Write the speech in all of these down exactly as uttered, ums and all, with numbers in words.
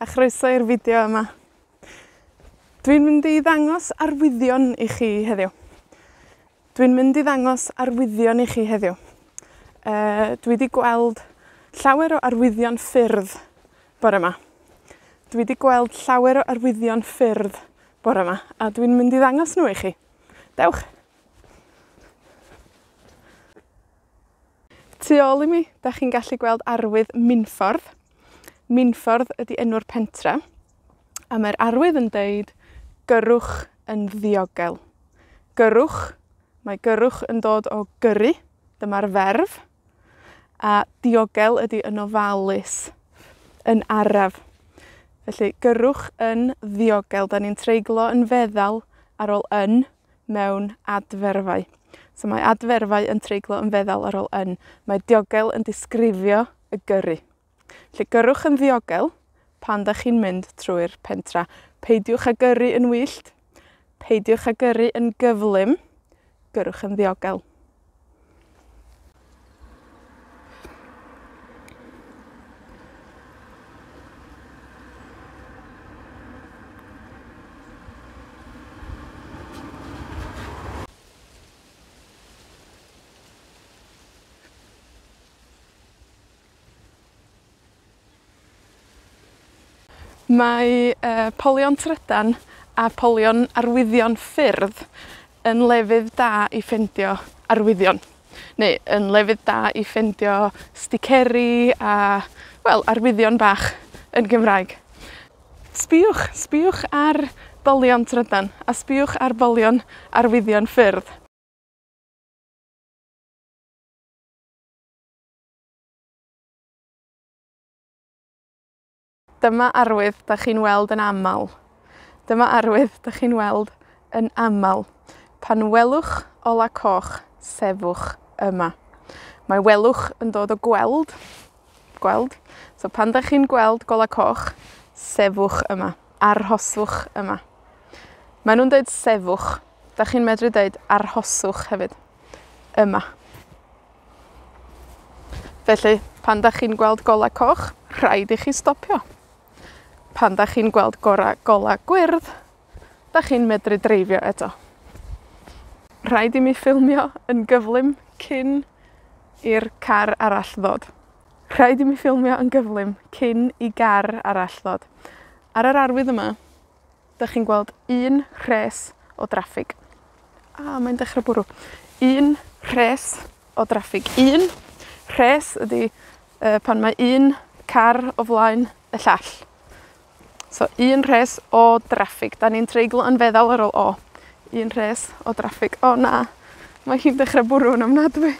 A chroeso i'r fideo yma. Dwi'n mynd i ddangos arwyddion i chi heddiw. Dwi'n mynd i ddangos arwyddion i chi heddiw. Uh, dwi 'di gweld llawer o arwyddion ffyrdd bore 'ma. Dwi 'di gweld llawer o arwyddion ffyrdd bore 'ma, a dwi'n mynd i ddangos nhw i chi. Dewch! Tu ôl i mi, 'dach chi'n gallu gweld arwydd Minffordd. Minffordd ydi enw'r pentra, a mae'r arwydd yn deud gyrrwch yn ddiogel. Gyrrwch, mae gyrrwch yn dod o gyrru, dyma'r ferf, a diogel ydi yn ofalus, yn araf. Felly, gyrrwch yn ddiogel. 'Dan ni'n treiglo yn feddal ar ôl yn mewn adferfau. So mae adferfau yn treiglo yn feddal ar ôl yn. Mae diogel yn disgrifio y gyrru. Felly, gyrrwch yn ddiogel pan 'dach chi'n mynd trwy'r pentra. Peidiwch â gyrru yn wyllt, peidiwch â gyrru yn gyflym, gyrrwch yn ddiogel. Mae yy polion trydan a polion arwyddion ffyrdd yn lefydd da i ffindio arwyddion. Neu yn lefydd da i ffindio sticeri a, wel, arwyddion bach yn Gymraeg. Sbïwch, sbïwch ar bolion trydan, a sbïwch ar bolion arwyddion ffyrdd. Dyma arwydd 'dach chi'n weld yn amal. Dyma arwydd 'dach chi'n weld yn amal. Pan welwch ola coch, sefwch yma. Mae welwch yn dod o gweld, gweld. So pan 'dach chi'n gweld gola coch, sefwch yma, arhoswch yma. Mae nw'n deud sefwch. 'Dach chi'n medru deud arhoswch hefyd. Yma. Felly, pan 'dach chi'n gweld gola coch, rhaid i chi stopio. Pan 'dach chi'n gweld gora, gola gwyrdd, 'dach chi'n medru dreifio eto. Rhaid i mi ffilmio yn gyflym cyn i'r car arall ddod. Rhaid i mi ffilmio yn gyflym cyn i gar arall ddod. Ar yr arwydd yma, 'dach chi'n gweld un rhes o draffig. A, mae'n dechra bwrw. Un rhes o draffig. Un rhes ydi yy pan mae un car o flaen y llall. So, un rhes o draffig. 'Dan ni'n treiglo yn feddal ar ôl o. Un rhes o draffig. O na, mae hi'n dechra bwrw yn ofnadwy.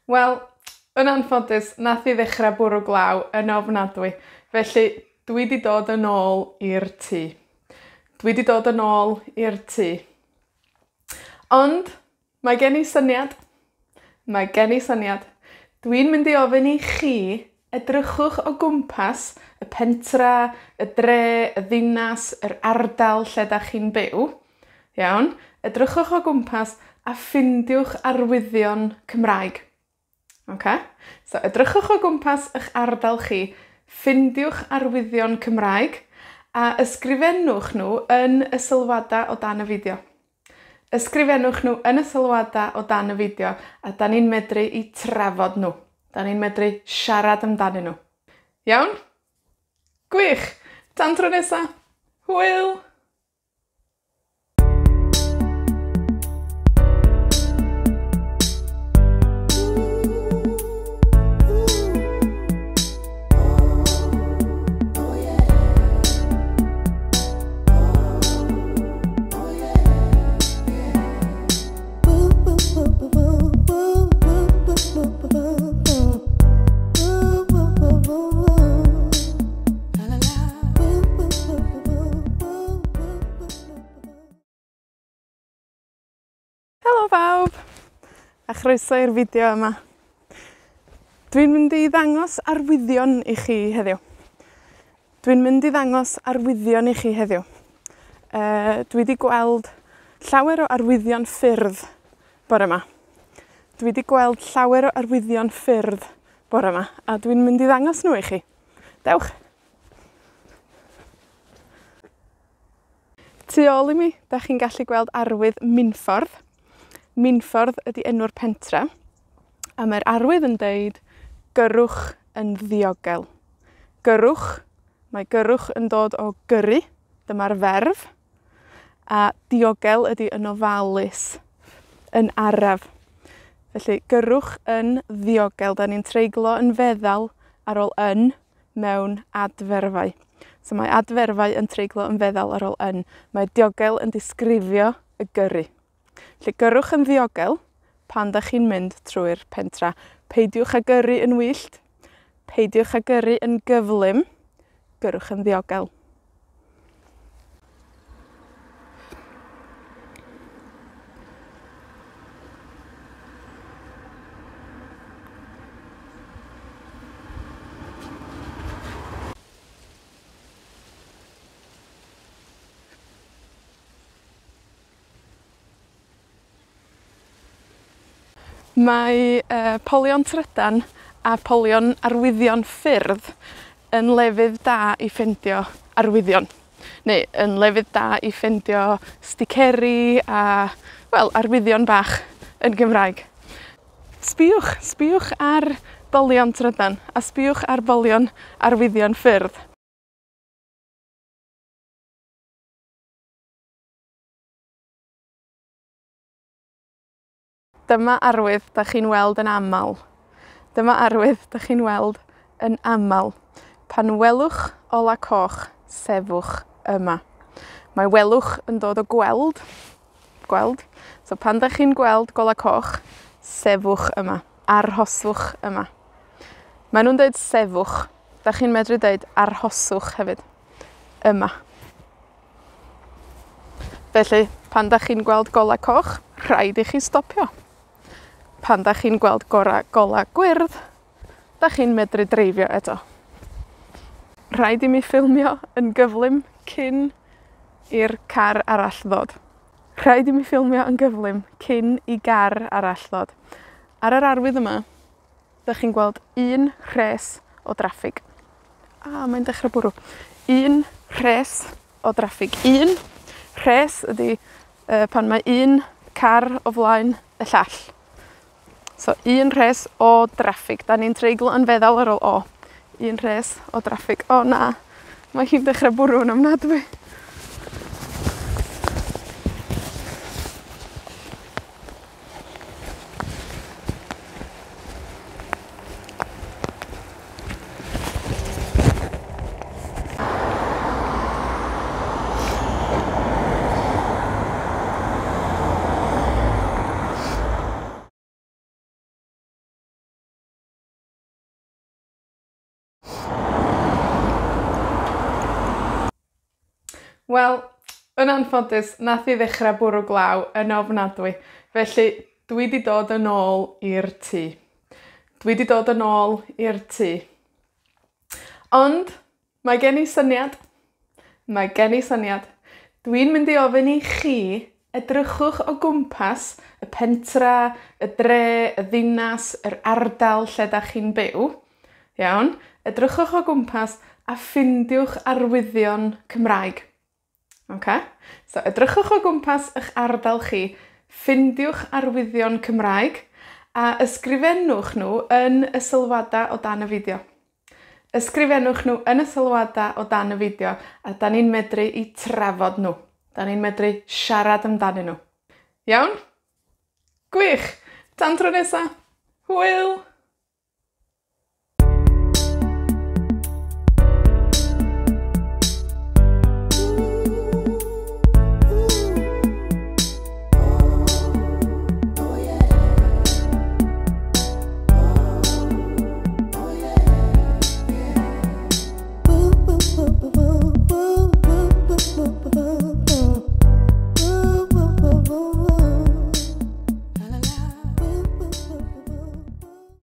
Wel, yn anffodus, nath i ddechra bwrw glaw yn ofnadwy. Felly, dwi 'di dod yn ôl i'r tŷ. Dwi 'di dod yn ôl i'r tŷ. Ond, mae gen i syniad. Mae gen i syniad. Dwi'n mynd i ofyn i chi edrychwch o gwmpas y pentra, y dre, y ddinas, yr ardal lle 'dach chi'n byw. Iawn? Edrychwch o gwmpas a ffindiwch arwyddion Cymraeg. Oce? So, edrychwch o gwmpas 'ych ardal chi, ffindiwch arwyddion Cymraeg, a ysgrifennwch nhw yn y sylwada o dan y fideo. Ysgrifennwch nhw yn y sylwada o dan y fideo, a 'dan ni'n medru 'u trafod nhw. 'Dan ni'n medru siarad amdanyn nhw. Iawn? Gwych! Tan tro nesa! Hwyl! La la la. chroeso i'r fideo yma. Dwi'n mynd i ddangos arwyddion i chi heddiw. Dwi'n mynd i ddangos arwyddion i chi heddiw. Uh, dwi 'di gweld llawer o arwyddion ffyrdd bore 'ma. Dwi 'di gweld llawer o arwyddion ffyrdd bore 'ma, a dwi'n mynd i ddangos nhw i chi. Dewch! Tu ôl i mi, 'dach chi'n gallu gweld arwydd Minffordd. Minffordd ydi enw'r pentra, a mae'r arwydd yn deud gyrrwch yn ddiogel. Gyrrwch, mae gyrrwch yn dod o gyrru, dyma'r ferf, a diogel ydi yn ofalus, yn araf. Felly, gyrrwch yn ddiogel. 'Dan ni'n treiglo yn feddal ar ôl yn mewn adferfau. So mae adferfau yn treiglo yn feddal ar ôl yn. Mae diogel yn disgrifio y gyrru. Felly, gyrrwch yn ddiogel pan 'dach chi'n mynd trwy'r pentra. Peidiwch â gyrru yn wyllt, peidiwch â gyrru yn gyflym, gyrrwch yn ddiogel. Mae yy polion trydan a polion arwyddion ffyrdd yn lefydd da i ffindio arwyddion. Neu yn lefydd da i ffindio sticeri a, wel, arwyddion bach yn Gymraeg. Sbïwch, sbïwch ar bolion trydan, a sbïwch ar bolion arwyddion ffyrdd. Dyma arwydd 'dach chi'n weld yn amal. Dyma arwydd 'dach chi'n weld yn amal. Pan welwch ola coch, sefwch yma. Mae welwch yn dod o gweld, gweld. So pan 'dach chi'n gweld gola coch, sefwch yma, arhoswch yma. Mae nw'n deud sefwch. 'Dach chi'n medru deud arhoswch hefyd. Yma. Felly, pan 'dach chi'n gweld gola coch, rhaid i chi stopio. Pan 'dach chi'n gweld gora, gola gwyrdd, 'dach chi'n medru dreifio eto. Rhaid i mi ffilmio yn gyflym cyn i'r car arall ddod. Rhaid i mi ffilmio yn gyflym cyn i gar arall ddod. Ar yr arwydd yma, 'dach chi'n gweld un rhes o draffig. A, mae'n dechra bwrw. Un rhes o draffig. Un rhes ydi yy pan mae un car o flaen y llall. So, un rhes o draffig. 'Dan ni'n treiglo yn feddal ar ôl o. Un rhes o draffig. O na, mae hi'n dechra bwrw yn ofnadwy. Wel, yn anffodus, nath hi ddechra bwrw glaw yn ofnadwy. Felly, dwi 'di dod yn ôl i'r tŷ. Dwi 'di dod yn ôl i'r tŷ. Ond, mae gen i syniad. Mae gen i syniad. Dwi'n mynd i ofyn i chi edrychwch o gwmpas y pentra, y dre, y ddinas, yr ardal lle 'dach chi'n byw. Iawn? Edrychwch o gwmpas a ffindiwch arwyddion Cymraeg. Oce? So edrychwch o gwmpas 'ych ardal chi, ffindiwch arwyddion Cymraeg, a ysgrifennwch nhw yn y sylwada o dan y fideo. Ysgrifennwch nhw yn y sylwada o dan y fideo, a 'dan ni'n medru 'u trafod nhw. 'Dan ni'n medru siarad amdanyn nhw. Iawn? Gwych! Tan tro nesa! Hwyl!